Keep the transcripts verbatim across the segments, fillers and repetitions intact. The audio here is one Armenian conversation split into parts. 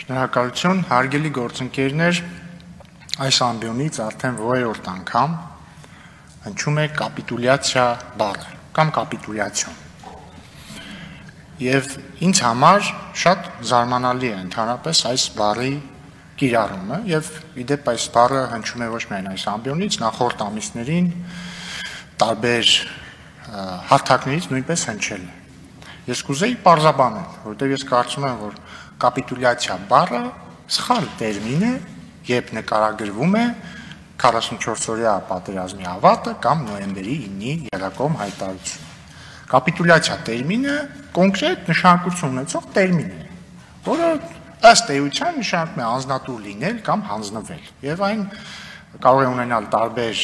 Շնորհակալություն, հարգելի գործընկերներ, այս ամբիոնից արդեն որերորդ անգամ հնչում է կապիտուլյացիա բառը կամ կապիտուլյացիոն։ Եվ ինձ համար շատ զարմանալի է ընդհանրապես այս բառի կիրառումը եւ իդեպ այս բառը հնչում է ոչ միայն այս ամբիոնից, նախորդ ամիսներին տարբեր հարթակներից նույնպես հնչել է։ Ես կուզեի պարզաբանել, որովհետեւ ես կարծում եմ, որ կապիտուլյացիա բառը սխալ տերմին է, երբ նկարագրվում է քառասունչորսօրյա պատերազմի ավարտը կամ նոյեմբերի իննի եռակողմ հայտարարություն։ Կապիտուլյացիա տերմինը կոնկրետ նշանակություն ունեցող տերմին է, որը ըստ էության նշանակում է անձնատուր լինել կամ հանձնվել, եւ այն կարող է ունենալ տարբեր,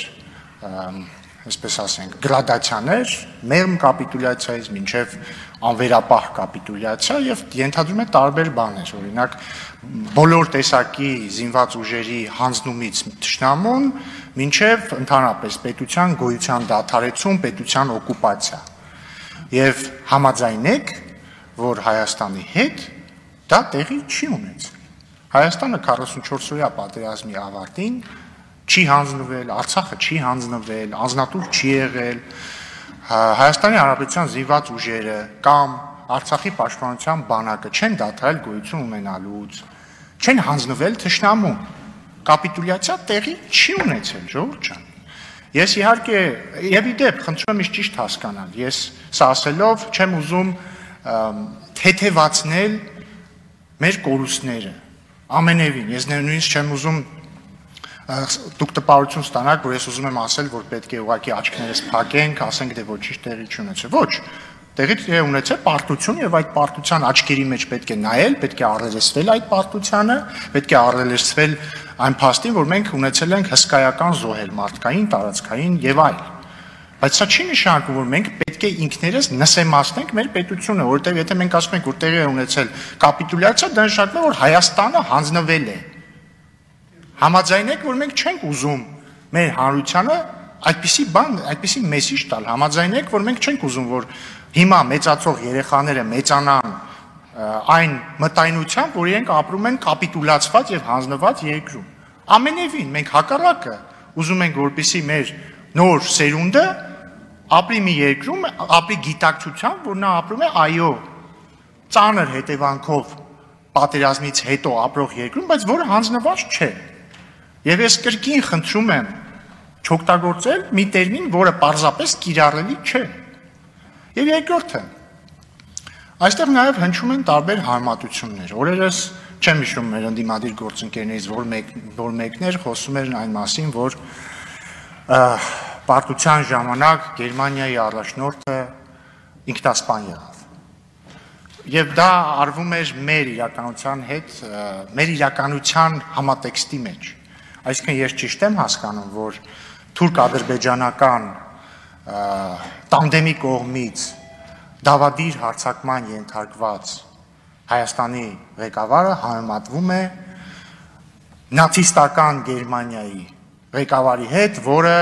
այսպես ասենք, գրադացիաներ, մեղմ կապիտուլյացիայից մինչև անվերապահ կապիտուլյացիա եւ ենթադրում է տարբեր բաներ, օրինակ բոլոր տեսակի զինված ուժերի հանձնումից թշնամուն մինչև ընդհանրապես պետության գոյության դադարեցում, պետության օկուպացիա։ Եվ համաձայնեք, որ Հայաստանի հետ դա տեղի չի ունեցել։ Հայաստանը քառասունչորսօրյա պատերազմի ավարտին չի հանձնվել, Արցախը չի հանձնվել, անձնատուր չի եղել, Հայաստանի Հանրապետության զինված ուժերը կամ Արցախի պաշտպանության բանակը չեն դադարել գոյություն ունենալուց, չեն հանձնվել թշնամուն։ Կապիտուլյացիա տեղի չի ունեցել, ժողովուրդ ջան։ Ես իհարկե, եւ իդեպ, խնդրում եմ ինձ ճիշտ հասկանալ, ես սա ասելով չեմ ուզում թեթևացնել մեր կորուստները, ամենևին, ես նույնիսկ չեմ ուզում դուք տպարություն ստանաք, որ ես ուզում եմ ասել, որ պետք է ուղղակի աչքներս փակենք, ասենք դե ոչինչ տեղի չունեցել։ Ոչ, տեղի է ունեցել պարտություն եւ այդ պարտության աչքերի մեջ պետք է նայել, պետք է առերեսվել այդ պարտությանը, պետք է առերեսվել այն փաստին, որ մենք ունեցել ենք հսկայական զոհեր մարդկային, տարածքային եւ այլ։ Բայց սա չի նշանակում, որ մենք պետք է ինքներս նսեմացնենք մեր պետությունը, որովհետեւ եթե մենք ասում ենք, որ տեղի է ունեցել կապիտուլյացիա, դա նշանակում է, որ Հայաստանը հանձնվել է։ Համաձայնեք, որ մենք չենք ուզում մեր հանրությանը այդպիսի բան, այդպիսի մեսիջ տալ, համաձայնեք, որ մենք չենք ուզում, որ հիմա մեծացող երեխաները մեծանան այն մտայնությամբ, որ իրենք ապրում են կապիտուլացված եւ հանձնված երկրում։ Ամենևին մենք հակառակը ուզում ենք, որպեսզի մեր նոր սերունդը ապրի մի երկրում, ապրի գիտակցությամբ, որ նա ապրում է այո, ծանր հետևանքով պատերազմից հետո ապրող երկրում, բայց որը հանձնված չէ։ Եվ ես կրկին խնդրում եմ չօգտագործել մի տերմին, որը պարզապես կիրառելի չէ։ Եվ երկրորդը, այստեղ նաև հնչում են տարբեր հարմատություններ։ Օրերս չեմ հիշում մեր ընդդիմադիր գործընկերներից, որ մեկ, որ մեկներ խոսում էր այն մասին, որ պարտության ժամանակ Գերմանիայի առաջնորդը ինքնասպան եղավ։ Եվ դա արվում էր մեր իրականության հետ, մեր իրականության համատեքստի մեջ։ Այսինքն ես ճիշտ եմ հասկանում, որ թուրք-ադրբեջանական տանդեմի կողմից դավադիր հարձակման ենթարկված Հայաստանի ղեկավարը համեմատվում է նացիստական Գերմանիայի ղեկավարի հետ, որը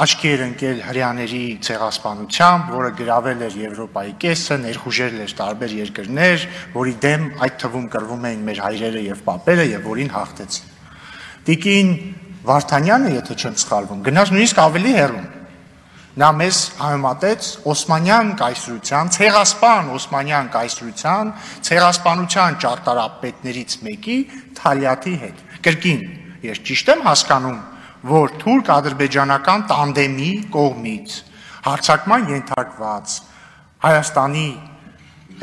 աչքի էր ընկել հրեաների ցեղասպանությամբ, որը գրավել էր Եվրոպայի կեսը, ներխուժել էր տարբեր երկրներ, որի դեմ այդ թվում կռվում էին մեր հայրերը եւ պապերը եւ որին հաղթեցին։ Տիկին Վարդանյանը, եթե չեմ սխալվում, գնաց նույնիսկ ավելի հեռու։ Նա մեզ համեմատեց Օսմանյան կայսրության, ցեղասպան Օսմանյան կայսրության, ցեղասպանության ճարտարապետներից մեկի Թալյաթի հետ։ Կրկին, ես ճիշտ եմ հասկանում, որ թուրք-ադրբեջանական տանդեմի կողմից հարձակման ենթարկված Հայաստանի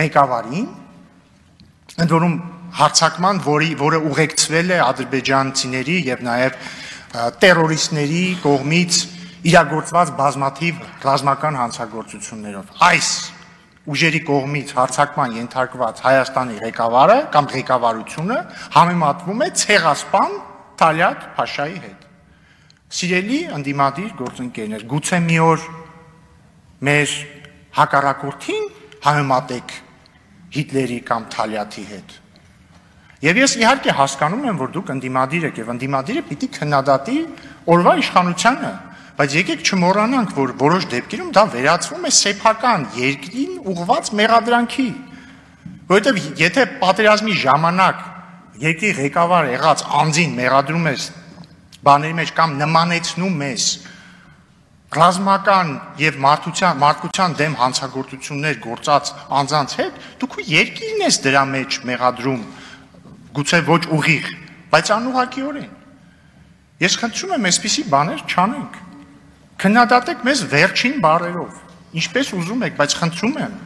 ղեկավարին, ընդ որում հարձակման, որի, որը ուղեկցվել է ադրբեջանցիների եւ նաեւ տերորիստների կողմից իրագործված բազմաթիվ ռազմական հանցագործություններով։ Այս ուժերի կողմից հարձակման ենթարկված Հայաստանի ղեկավարը կամ ղեկավարությունը համեմատվում է ցեղասպան Թալյաթ Փաշայի հետ։ Սիրելի ընդդիմադիր գործընկերներ, գուցե մի օր մեր հակառակորդին համեմատեք Հիտլերի կամ Թալյաթի հետ։ Եվ ես իհարկե հասկանում եմ, որ դուք ընդդիմադիր եք եւ ընդդիմադիրը պիտի քննադատի օրվա իշխանությանը, բայց եկեք չմոռանանք, որ որոշ դեպքերում դա վերածվում է սեփական երկրին ուղղված մեղադրանքի, որովհետեւ եթե պատերազմի ժամանակ երկրի ղեկավար եղած անձին մեղադրում ես բաների մեջ կամ նմանեցնում ես ռազմական եւ մարդկության մարդկության դեմ հանցագործություններ գործած անձանց հետ, դու քո երկիրն ես դրա մեջ մեղադրում, գուցե ոչ ուղիղ, բայց անուղղակիորեն։ Ես խնդրում եմ, այսպիսի բաներ չանենք։ Քննադատեք մեզ վերջին բառերով, ինչպես ուզում եք, բայց խնդրում եմ,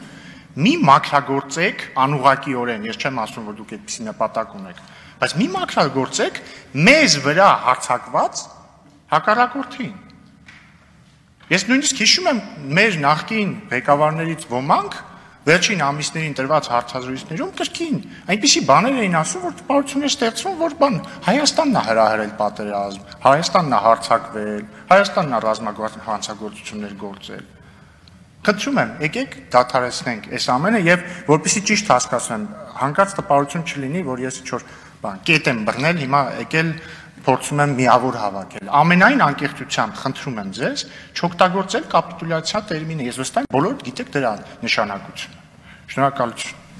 մի մաքրագործեք անուղղակիորեն, ես չեմ ասում, որ դուք այդպիսի նպատակ ունեք, բայց մի մաքրագործեք մեզ վրա հարձակված հակառակորդին։ Ես նույնիսկ հիշում եմ մեր նախկին ղեկավարներից ոմանք վերջին ամիսներին տրված հարցազրույցներում կրկին այնպիսի բաներ էին ասում, որ տպավորություն է ստեղծվում, որ բան Հայաստանն է հրահրել պատերազմ, Հայաստանն է հարձակվել, Հայաստանն է ռազմական հանցագործություններ գործել։ Խնդրում եմ, եկեք դադարեցնենք այս ամենը եւ որպեսզի ճիշտ հասկացնեմ, հանկարծ տպավորություն չլինի, որ ես ինչ-որ բան կետ եմ բռնել, հիմա եկել փորձում եմ միավոր հավաքել։ Ամենայն անկեղծությամբ խնդրում եմ ձեզ չօգտագործել կապիտուլյացիա տերմինը։ Ես վստահ եմ բոլորդ գիտեք դրա նշանակությունը։ Շնորհակալություն։